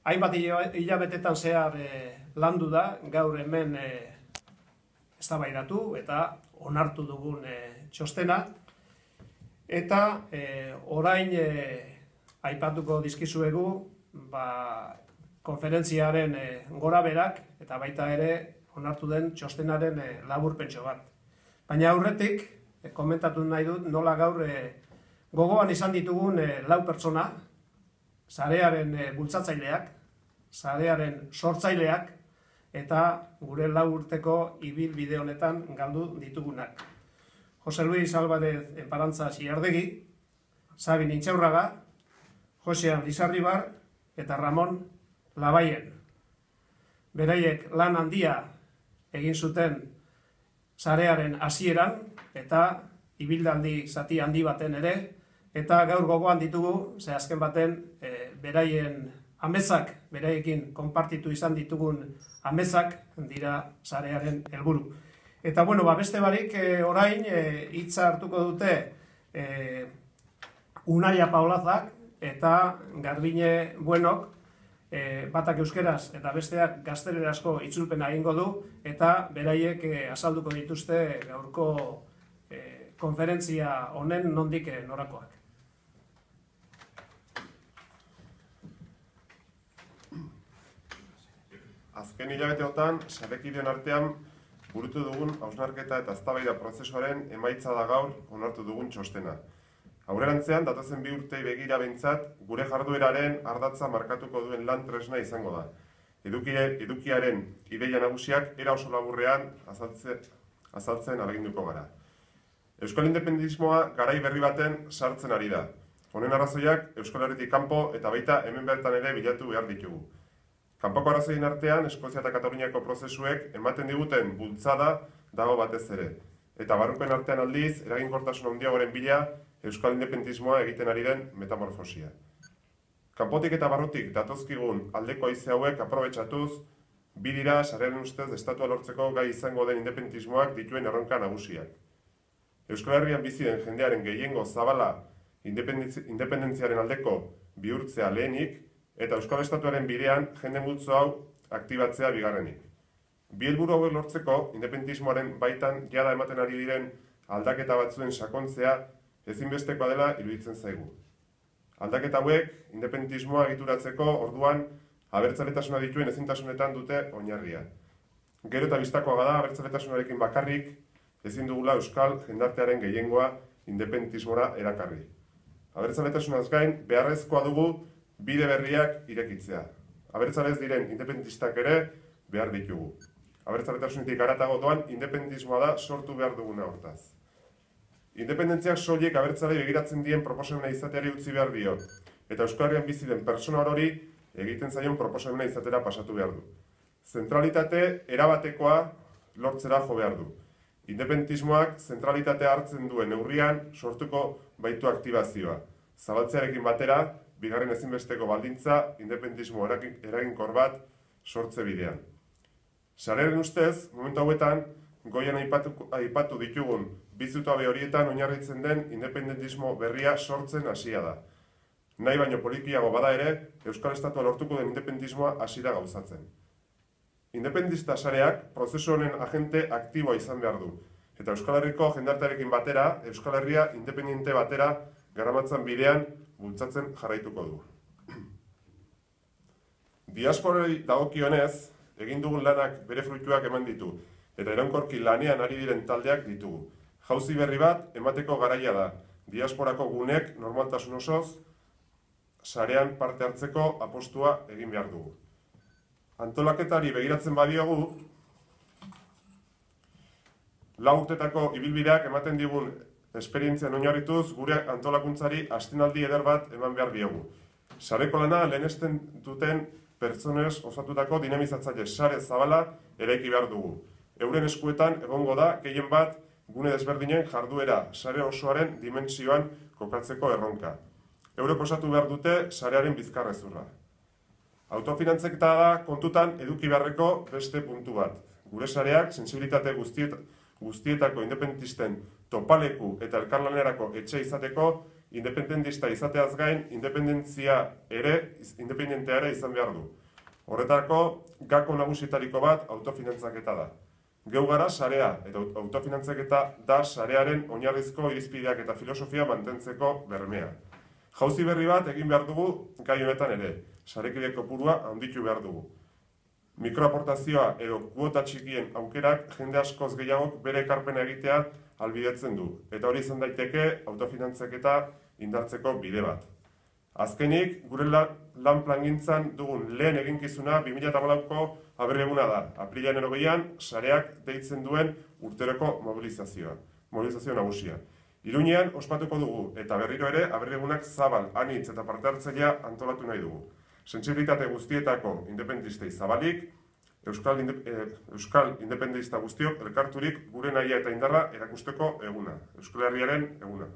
hainbat hilabetetan zehar landu da, gaur hemen eztabaidatu eta onartu dugun txostena. Eta orain aipatuko dizkizuegu konferentziaren gorabeherak eta baita ere onartu den txostenaren laburpentxo bat. Baina aurretik, komentatu nahi dut nola gaur gogoan izan ditugun 4 pertsona, sarearen bultzatzaileak, sarearen sortzaileak, eta gure 4 urteko ibilbide honetan galdu ditugunak. Jose Luis Álvarez Enparantza Xiardegi, Sabin Intxaurraga, Josean Lizarribar eta Ramon Labayen. Beraiek lan handia egin zuten sarearen hasieran eta ibillaldi zati handi baten ere, eta gaur gogoan ditugu, ze azken baten beraien amezak, beraiekin konpartitu izan ditugun amezak dira sarearen helburu. Eta bueno, beste barik orain hitza hartuko dute Unaia Paulazak eta Garbine Buenok, batak euskeraz eta besteak gaztelerazko itzulpena egingo du, eta beraiek azalduko dituzte gaurko konferentzia honen nondik norakoak. Azken hilabeteotan, sarekideen artean burutu dugun hausnarketa eta eztabaida prozesuaren emaitza da gaur onartu dugun txostena. Aurrerantzean, datozen 2 urtei begira behintzat, gure jardueraren ardatza markatuko duen lan tresna izango da. Edukiaren ideia nagusiak era oso laburrean azaltzen ahaleginduko gara. Euskal independismoa garai berri baten sartzen ari da. Honen arrazoiak Euskal Herritik kanpo eta baita hemen bertan ere bilatu behar ditugu. Kanpoko arrazoien artean, Eskozia eta Kataluniako prozesuek ematen diguten bultzada dago batez ere. Eta barrupen artean aldiz, eraginkortasun handiagoren bila, Euskal independismoa egiten ari den metamorfosia. Kanpotik eta barrutik datozkigun aldeko haize hauek aprobetxatuz, bi dira sarearen ustez estatua lortzeko gai izango den independismoak dituen erronka nagusiak. Euskal Herrian bizi den jendearen gehiengo zabala independentziaren aldeko bihurtzea lehenik, eta Euskal Estatuaren bidean jende multzo hau aktibatzea bigarrenik. Bi helburu hauek lortzeko, independismoaren baitan jada ematen ari diren aldaketa batzuen sakontzea ezinbestekoa dela iruditzen zaigu. Aldaketa hauek, independismoa egituratzeko orduan abertzaletasuna dituen ezintasunetan dute oinarria. Gero eta bistakoa da abertzaletasunarekin bakarrik ezin dugula Euskal jendartearen gehiengoa independismora erakarri. Abertzaletasunaz gain, beharrezkoa dugu bide berriak irekitzea. Abertzalez diren independistak ere behar ditugu. Abertzaletasunetik haratago doan independismoa da sortu behar duguna hortaz. Independentziak soilik abertzalei begiratzen dien proposamena izateari utzi behar dio, eta Euskal Herrian bizi den pertsona orori egiten zaion proposamena izatera pasatu behar du. Zentralitate erabatekoa lortzera jo behar du. Independismoak zentralitatea hartzen duen neurrian sortuko baitu aktibazioa. Zabaltzearekin batera, bigarren ezinbesteko baldintza, independismo eraginkor bat sortze bidean. Sarearen ustez, momentu hauetan, goian aipatu ditugun bizutabe horietan oinarritzen den independentismo berria sortzen hasia da. Nahi baino polikiago bada ere, Euskal Estatua lortuko den independismoa hasira gauzatzen. Independista sareak prozesu honen agente aktiboa izan behar du, eta Euskal Herriko jendartearekin batera, Euskal Herria independente batera garamatzan bidean bultzatzen jarraituko du. Diasporei dagokionez, egin dugun lanak bere fruituak eman ditu, eta iraunkorki lanean ari diren taldeak ditugu. Jauzi berri bat emateko garaia da, diasporako gunek normaltasun osoz, sarean parte hartzeko apostua egin behar dugu. Antolaketari begiratzen badiogu, 4 urtetako ibilbideak ematen digun esperientzian oinarrituz gure antolakuntzari astinaldi eder bat eman behar diogu. Sareko lana lehenesten duten pertsonez osatutako dinamizatzaile sare zabala eraiki behar dugu. Euren eskuetan egongo da gehien bat gune desberdinen jarduera sare osoaren dimentsioan kokatzeko erronka. Eurek osatu behar dute sarearen bizkarrezurra. Autofinantzeketa da kontutan eduki beharreko beste puntu bat. Gure sareak sensibilitate guztietako independentisten topaleku eta elkarlanerako etxe izateko independentista izateaz gain, independentea ere izan behar du. Horretarako, gako nagusietariko bat autofinantzaketa da. Geu gara sarea, eta autofinantzaketa da sarearen oinarrizko irizpideak eta filosofia mantentzeko bermea. Jauzi berri bat egin behar dugu gai honetan ere, sarekide kopurua handitu behar dugu. Mikroaportazioa edo kuota txikien aukerak jende askoz gehiagok bere ekarpena egitea ahalbidetzen du, eta hori izan daiteke autofinantzaketa indartzeko bide bat. Azkenik, gure lan plangintzan dugun lehen eginkizuna 2014ko aberri eguna da. Aprilaren 20an, sareak deitzen duen urteroko mobilizazio nagusia. Iruñean ospatuko dugu, eta berriro ere aberri egunak zabal, anitz eta parte hartzailea antolatu nahi dugu. Sentsibilitate guztietako independentistei zabalik, Euskal independentista guztiok elkarturik gure nahia eta indarra erakusteko eguna, Euskal Herriaren eguna.